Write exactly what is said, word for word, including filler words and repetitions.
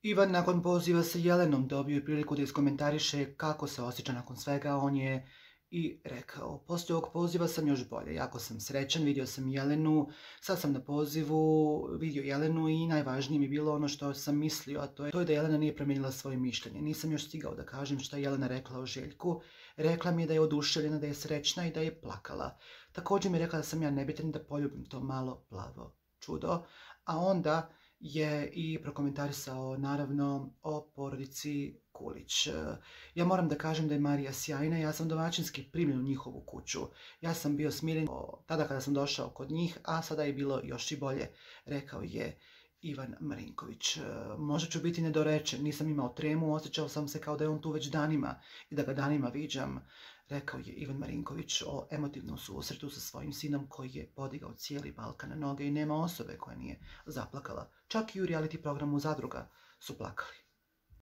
Ivan nakon poziva sa Jelenom dobio je priliku da iskomentariše kako se osjeća nakon svega. On je i rekao: poslije ovog poziva sam još bolje, jako sam srećan, vidio sam Jelenu, sad sam na pozivu vidio Jelenu i najvažnije mi je bilo ono što sam mislio, a to je, to je da Jelena nije promijenila svoje mišljenje. Nisam još stigao da kažem šta je Jelena rekla o Željku. Rekla mi je da je oduševljena, da je srećna i da je plakala. Također mi je rekla da sam ja nebitan, da poljubim to malo plavo čudo, a onda je i prokomentarisao naravno o porodici Kulić. Ja moram da kažem da je Marija sjajna, ja sam domaćinski primljen u njihovu kuću. Ja sam bio smiren tada kada sam došao kod njih, a sada je bilo još i bolje, rekao je Ivan Marinković. Možda ću biti nedorečen, nisam imao tremu, osjećao sam se kao da je on tu već danima i da ga danima viđam, rekao je Ivan Marinković o emotivnom susretu sa svojim sinom koji je podigao cijeli Balkan na noge i nema osobe koja nije zaplakala. Čak i u reality programu Zadruga su plakali.